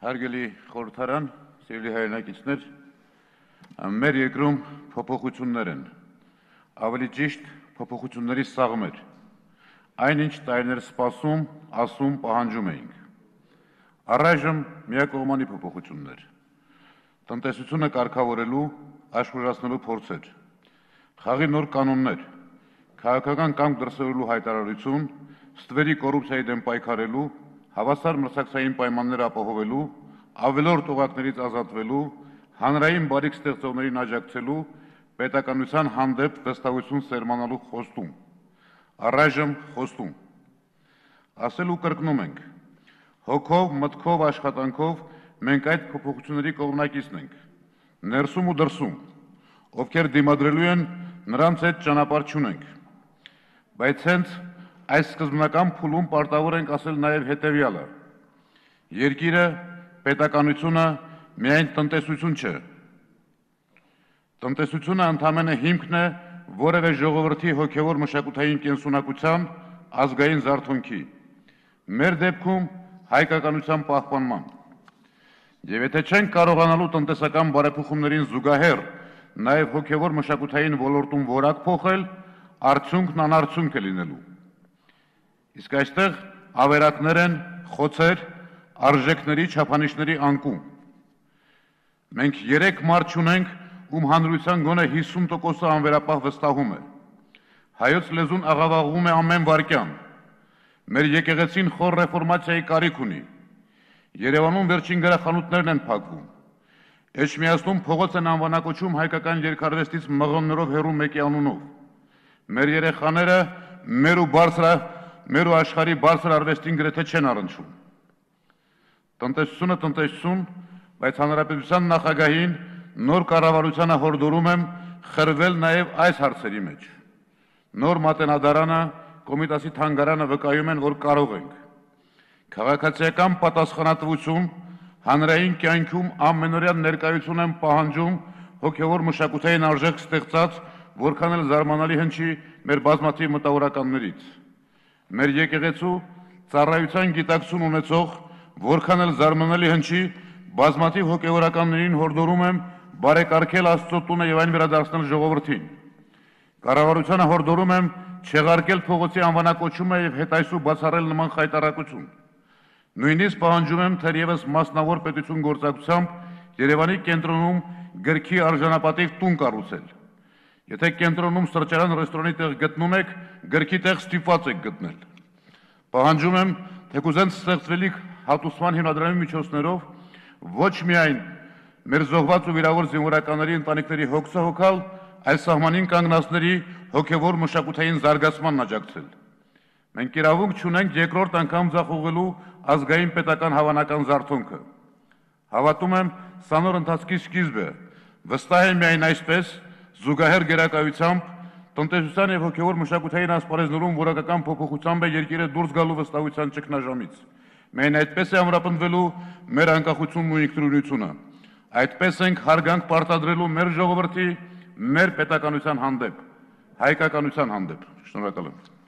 Հարգելի խորհրդարան, սիրելի հայրենակիցներ, մեր երկրում փոփոխություններ են, ավելի ճիշտ փոփոխությունների սաղմեր, այնինչ տարիներ սպասում, ասում, պահանջում էինք։ Առայժմ միակողմանի փոփոխություններ, տնտեսությունը կարգավորելու, աշխուժացնելու փորձեր, խաղի նոր կանոններ, քաղաքական կամք դրսևորելու հայտարարություն, ստվերի կոռուպցիայի դեմ պայքարելու, հավասար մրցակցային պայմաններ ապահովելու, ավելորդ օղակներից ազատվելու, հանրային բարիք ստեղծողներին աջակցելու, պետականության հանդեպ վստահություն սերմանալու խոստում, առայժմ խոստում։ Ասել ու կրկնում ենք, հոգով, մտքով, աշխատանքով մենք այդ փոփոխությունների կողմնակիցն ենք, ներսում ու դրսում, ովքեր դիմադրելու են նրանց հետ ճանապարհ չունենք, բայց հենց այս սկզբնական փուլում պարտավոր ենք ասել նաև հետևյալը. երկիրը, պետականությունը միայն տնտեսություն չէ։ Տնտեսությունը ընդամենը հիմքն է որևէ ժողովրդի հոգևոր մշակութային կենսունակության, ազգային զարթոնքի, մեր դեպքում հայկականության պահպանման։ Եվ եթե չենք կարողանալու տնտեսական բարեփոխումներին զուգահեռ նաև հոգևոր մշակութային ոլորտում որակ փոխել, արդյունքն անարդյունք է լինելու։ Իսկ այստեղ ավերակներ են, խոցեր, արժեքների, չափանիշների անկում։ Մենք 3 մարդ չունենք, ում հանրության գոնե 50%-ը անվերապահ վստահում է։ Հայոց լեզուն աղավաղում է ամեն վայրկյան։ Մեր եկեղեցին խոր ռեֆորմացիայի կարիք ունի։ Երևանում վերջին գրախանութներն են փակվում։ Էջմիածնում փողոց են անվանակոչում հայկական երգարվեստից մղոններով հեռու մեկի անունով։ Մեր երեխաները մեր ու աշխարհի բարձր արվեստին գրեթե չեն առնչում։ Տնտեսությունը տնտեսություն, բայց հանրապետության նախագահին նոր կառավարությանը հորդորում եմ խրվել նաև այս հարցերի մեջ։ Նոր մատենադարանը, Կոմիտասի թանգարանը վկայում են, որ կարող ենք։ Քաղաքացիական պատասխանատվություն, հանրային կյանքում ամենօրյա ներկայություն են պահանջում հոգևոր մշակութային արժեք ստեղծած, որքան էլ զարմանալի հնչի մեր բազմաթիվ մտավորականներից։ Մեր եկեղեցու ծառայության գիտակցություն ունեցող, որքան էլ զարմանալի հնչի, բազմաթիվ հոգևորականներին հորդորում եմ բարեկարգել Աստծո տունը եւ այն վերադարձնել ժողովրդին։ Կառավարությանը հորդորում եմ չեղարկել փողոցի անվանակոչումը եւ հետայսու բացառել նման խայտառակություն։ Նույնիսկ պահանջում եմ թերևս մասնավոր պետություն գործակցությամբ Երևանի կենտրոնում գրքի արժանապատիվ տուն կառուցել։ Եթե կենտրոնում սրճարան ռեստորանի տեղ գտնում եք, գրքի տեղ ստիպված եք գտնել։ Պահանջում եմ թեկուզեն ստեղծվելիք հատուցման հիմնադրամի միջոցներով ոչ միայն մեր զոհված ու վիրավոր զինվորականների ընտանիքների հոգսը հոգալ, այլ սահմանին կանգնածների հոգևոր մշակութային զարգացմանն աջակցել։ Մենք իրավունք չունենք երկրորդ անգամ ձախողելու ազգային պետական հավանական զարթոնքը։ Հավատում եմ, սա նոր ընթացքի սկիզբ է, վստահ եմ միայն այսպես, զուգահեռ գերակայությամբ, տնտեսության եւ հոգևոր մշակութային ասպարեզներում որակական փոփոխությամբ է երկիրը դուրս գալու վստահության ճգնաժամից։ Միայն այդպես է ամրապնդվելու մեր անկախությունն ու ինքնուրույնությունը։ Այդպես ենք հարգանք պարտադրելու մեր ժողովրդի, մեր պետականության հանդեպ, հայկականության հանդեպ։ Շնորհակալ եմ։